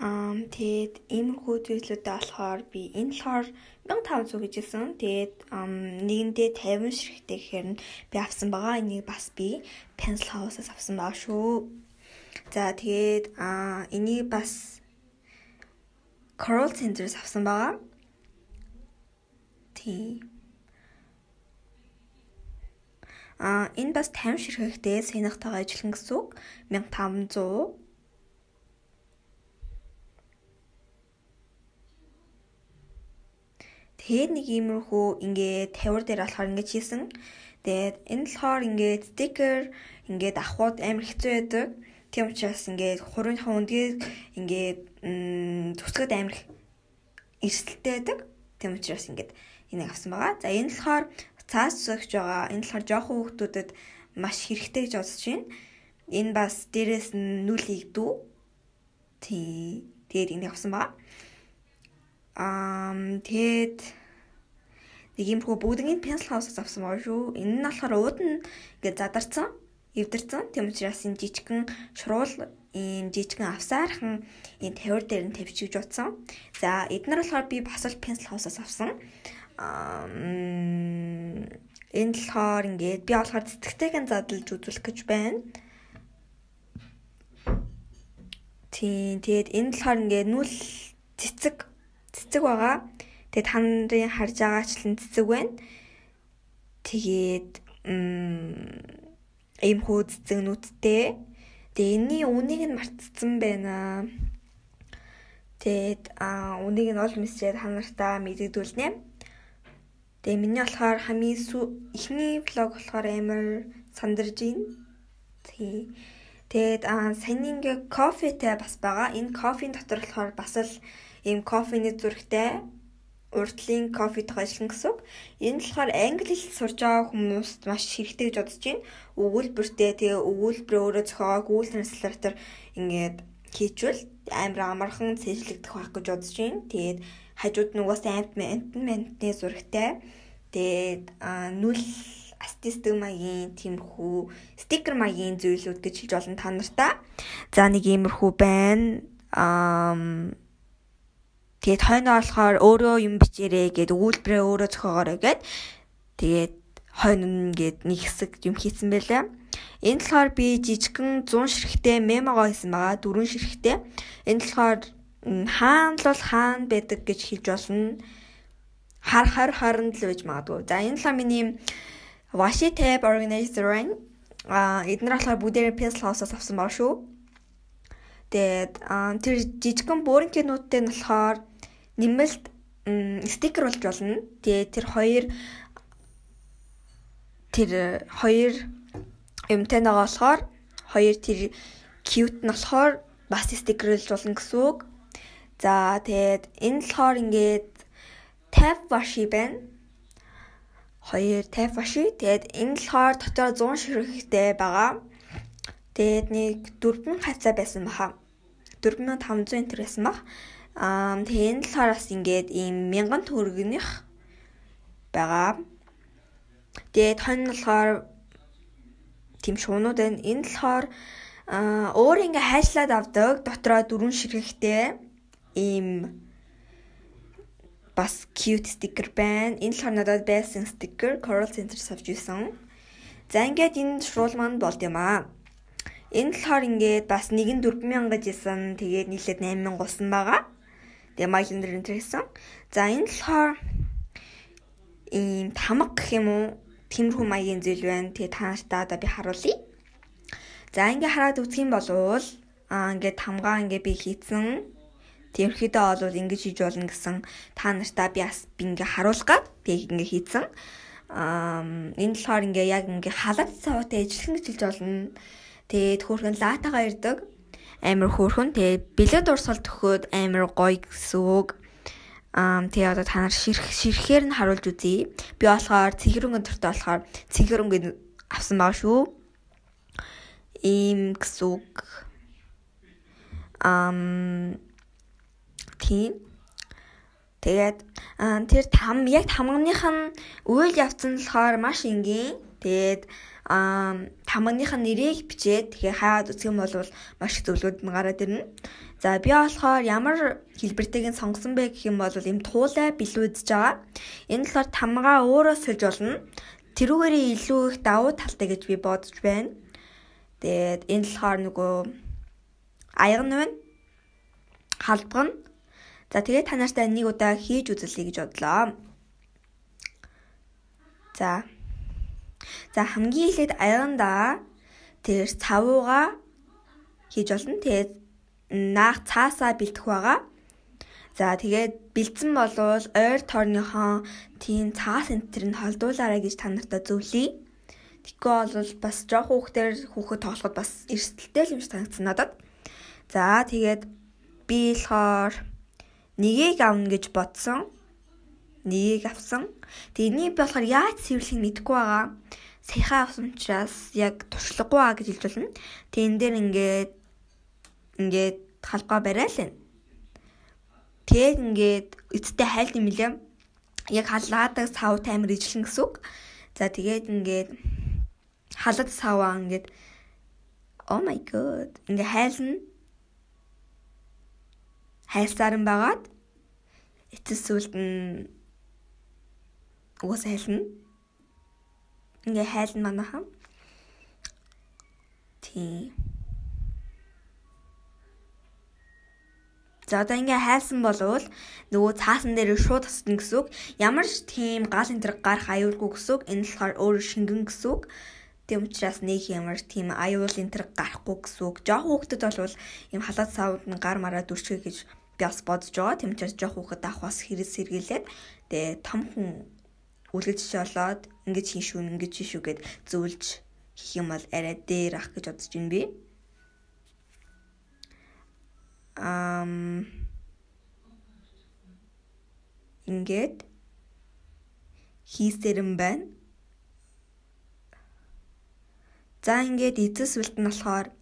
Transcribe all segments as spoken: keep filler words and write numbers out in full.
Аа тэгээд иймэрхүү зүйлүүдээ болохоор би энэ болохоор мянга таван зуун гэж хэлсэн. Тэгээд нэгэндээ тавин ширхтээ гэхээр нь би авсан байгаа. Энийг бас би Pencil House-аас авсан байгаа шүү. За тэгээд аа энийг бас Coral Center-аас авсан байгаа. Тий. Аа энэ бас тавин ширхэгтэй сэнэгтэйгээ ажиллана гэсэн үг. мянга таван зуун. Тэгээд нэг иймэрхүү ингээд тавир дээр болохоор ингэж хийсэн. Тэгээд энэ болохоор ингээд стикер ингээд авахуд амар хэцүү байдаг. Тийм учраас ингээд хурууныхаа үндгийг ингээд зүсгэд амар эрсдэлтэй байдаг. Тийм учраас ингээд энийг авсан байгаа. За энэ болохоор цаас зүсгэж байгаа. Энэ болохоор жоохон хүүхдүүдэд маш хэрэгтэй гэж бодож байна. Энэ бас дээрээс нь нүл игдүү. Тий. Тэгээд энийг авсан байгаа. Аа тэгээд нэг юмрхүү бүгднийг Pencil House-аас авсан байгаа шүү. Энэ нь болохоор ууд нь ингээд задарсан, эвдэрсэн. Тийм учраас энэ жижигхэн шуруул энэ жижигхэн авсаархан энэ тавир дээр нь тавьчих гэж утсан. За эдгээр болохоор би бас л Pencil House-аас авсан. Аа энэ болохоор ингээд би болохоор цэцэгтэйг задлж үзүүлэх гэж байна. Тийм тэгээд энэ болохоор ингээд нүл цэцэг цэцэг байгаа. Тэгээд та нарын харж байгаачлан цэцэг байна. Тэгээд ийм хөө цэцэгнүүдтэй. Тэгээд энэний үнийг нь мартсан байна. Тэгээд аа үнийг нь ол мессежээр та нартаа мэдэгдүүлнэ. Тэгээд миний болохоор хамгийн эхний влог болохоор амар сандарж байна. Тий. Тэгээд аа сайн ингээ кофетэй бас байгаа. Энэ кофеийн дотор болохоор бас л ийм кофений зүрхтэй урдлын кофетойгоо ажиллана гэсэн үг. Энэ болохоор англи хэл сурж байгаа хүмүүст маш хэрэгтэй гэж бодож байна. Өгүүлбэртэй тэгээ өгүүлбэрээ өөрөө зохиогоо Google Translator ингээд хийчвэл амар амархан цэжлэгдэх байх гэж бодож байна. Тэгээд хажууд нь угаасаа амт амтны зургтай. Тэгээд нүл астистмагийн тиймэрхүү стикер маягийн зүйлүүд гэж хэлж болно та нартаа. За нэг иймэрхүү байна. Аа тэгээд хойноо болохоор өөрөө юм бичээрэй гэд өгүүлбэрээ өөрөө зохиогоорой гэд тэгээд хойно ингээд нэг хэсэг юм хийсэн байлаа. Энэ болохоор би жижигхэн зуун ширхтээ мемогоо хийсэн байгаа. Дөрвөн ширхтээ. Энэ болохоор хаана л бол хаана байдаг гэж хэлж болно. Хар хар харанд л байж магадгүй. За энэ болохоор миний washi tape organizer байна. Аа эдгээр болохоор бүгдээрээ Pencil House-аас авсан байгаа шүү. Тэгээд тэр жижигхэн бөөринкэнүүдтэй нь болохоор нэмэлт стикер болж болно. Тэгээд тэр хоёр тэр хоёр юмтай нэг болохоор хоёр тэр cute нь болохоор бас стикер болж болно гэсэн үг. За тэгээд энэ болохоор ингээд tap washi байна. Хоёр tap washi. Тэгээд энэ болохоор дотор зуун ширхэгтэй байгаа. Тэгээд нэг дөрвөн хацаа байсан баха. дөрвөн мянган таван зуун энэ байсан баг. Аа тэгээд энэ болохоор бас ингээд ийм мянган төгрөгнийх байгаа. Тэгээд хонь болохоор тийм шуунууд байна. Энэ болохоор аа өөр ингээ хайшлаад авдаг. Дотроо дөрвөн ширхэгтэй ийм бас cute sticker байна. Энэ болохоор надад байсан sticker Coral Center-аас авч ирсэн. За ингээд энэ шуруул маань болд юм аа. Энэ болохоор ингээд бас нэгэн дөрвөн мянга гэж исэн. Тэгээд нийлээд найман мянга болсон байгаа. Тэгээ Mylender энэ төрсэн. За энэ болохоор ийм тамга гэх юм уу? Тэмэрхүү маягийн зүйл байна. Тэгээ та нартаа одоо би харуулъя. За ингээд хараад үзэх юм бол аа ингээд тамгаа ингээд би хийцэн. Тэрхэдээ бол ингэж хийж болно гэсэн та нартаа би бас би ингээд харуулах гад тэг ингээд хийцэн. Аа энэ болохоор ингээд яг ингээд халаад цаваатай ажиллах гэж хэлж болно. Тэгээд хөөрхөн латагаа ирдэг. Амар хөөрхөн. Тэгээд бэлэд урсгал төхөөд амар гоё гэсэн үг. Аа тэгээд одоо та нар ширх ширхээр нь харуулж үзье. Би болохоор цэгэрэнгийн төртөө болохоор цэгэрэнгийн авсан байгаа шүү. Ийм гэсэн үг. Ам тийм. Тэгээд тэр там яг тамганых нь үйл явцсан болохоор маш энгийн. Тэгээд аа тамганых нь нэрийг бичээд тэгэхээр хаад үзэх юм бол маш их зөвлөд нь гараад ирнэ. За би болохоор ямар хэлбэртэйг нь сонгосон бэ гэх юм бол ийм туулай билүүдж байгаа. Энэ болохоор тамгаа өөрөө сольж болно. Тэрүүгээрээ илүү их давуу талтай гэж би бодож байна. Тэгээд энэ болохоор нөгөө аяга нь байна. Халбга нь. За тэгээд та нартай нэг удаа хийж үзэлье гэж бодлоо. За. За хамгийн эхлээд аягандаа тэр цавууга хийж болно. Тэгээд наах цаасаа бэлтэх байгаа. За тэгээд бэлдсэн болвол ойр тойрныхон тийм цаас энтер нь холдуулаарай гэж та нартай зөвлөе. Тэгэхгүй бол бас жоох хүүхдээр хүүхэд тоглоход бас эрсдэлтэй юм шиг санагдсан надад. За тэгээд би болохоор нэгийг авна гэж бодсон. Нэгийг авсан. Тэгээд энийг би болохоор яаж цэвэрлэхийг мэдэхгүй байгаа. Саяхан авсан учраас яг туршлагагүй аа гэж хэлж болно. Тэгээд энэ дээр ингээд ингээд халбаа барайл нь. Тэгээд ингээд эцтэй хайлт юм лээ. Яг халаадаг сав таймер ижлэн гэсэн үг. За тэгээд ингээд халаад саваа ингээд oh my god ингээд хайлна. Хайлсаар нь байгаад эцэс сүлд нь уус хайлна. Ингээд хайлна манайхан. Тийм. За одоо ингээ хайлсан болвол нөгөө цаасан дээр шууд тасна гэсэн үг. Ямар ч тийм гал энтер гарах аюулгүй гэсэн үг. Энэ болохоор өөр шингэн гэсэн үг. Тийм учраас нэг ямар тийм аюул энтер гарахгүй гэсэн үг. Жох хүүхдэд бол юм халаад савд нь гар мараа дүрчгээ гэж би бас бодож байгаа. Тийм учраас жох хүүхэд авах бас хэрэгс сэргийлээд тэгээ том хүн үлгэж шолоод ингэж хийн шүү, ингэж хийн шүү гэд зөвлөж хийх юм бол арай дээр ах гэж бодож байна би. Ам ингээд хийсэрэн байна. За ингээд эцэс үлт нь болохоор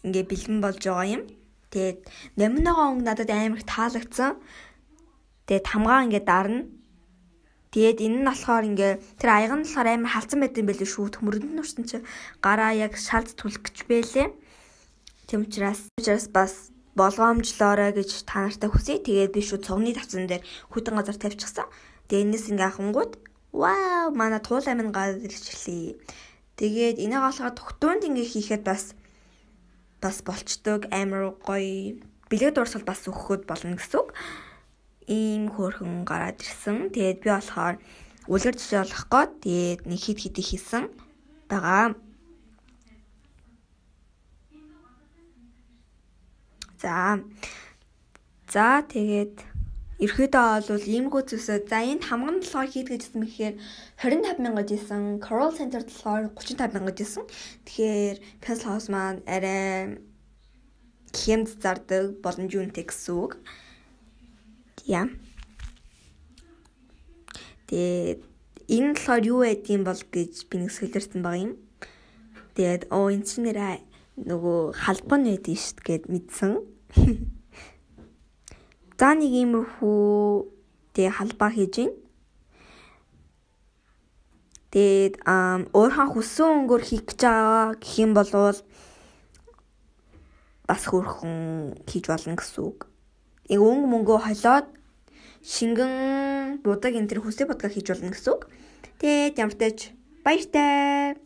ингээд бэлэн болж байгаа юм. Тэгээд номиноогоо өнгө надад амар их таалагдсан. Тэгээд тамгаа ингээд дарна. Тэгээд энэ нь болохоор ингээ тэр аяга нь болохоор амар халдсан байт юм байл шүү. Төмөрөнд нь урсан чи гараа яг шалд түлэх гэж байлээ. Тэм учраас учраас бас болгоомжлоорой гэж та нартай хүсье. Тэгээд би шүү цугны тавцан дээр хүйтэн газар тавьчихсан. Тэгээд энэс ингээ ахангууд вау манай туулай минь гараад ирчихлээ. Тэгээд энийг олоход тогтуунд ингээ хийхэд бас бас болчдөг амар гоё бэлэг дуурсал бас өгөхөд болно гэсэн үг. Ийм хөөрхөн гараад ирсэн. Тэгээд би болохоор үлгэр жишээ олох гээд тэгээд нэг хит хит хийсэн байгаа. За. За тэгээд ерөөдөө бол иймгүй зүйлсээ за энд хамган болохоор хийд гэжсэн мэхээр двадцать пять мянга жисэн, Coral Center болохоор тридцать пять мянга жисэн. Тэгэхээр Pencil House маань арай хэмд зардаг боломж үнэтэй гэсэн үг. Яа. Тэгээд энэ болохоор юу байдгийг бол гэж би нэг солиорсон байгаа юм. Тэгээд оо энэ чинь нэрээ нөгөө халбан байдгийг шүү гэд мэдсэн. За нэг иймэрхүү тэг халбаа хийж гин. Тэгээд өөрхөн хүссэн өнгөөр хийх гэж байгаа гэх юм бол бас хөрхөн хийж болно гэсэн үг. Ийг өнгө мөнгөө холоод шингэн будаг энэ төр хүсээ бодгаа хийж болно гэсэн үг. Тэгээд ямар ч тач баяртай.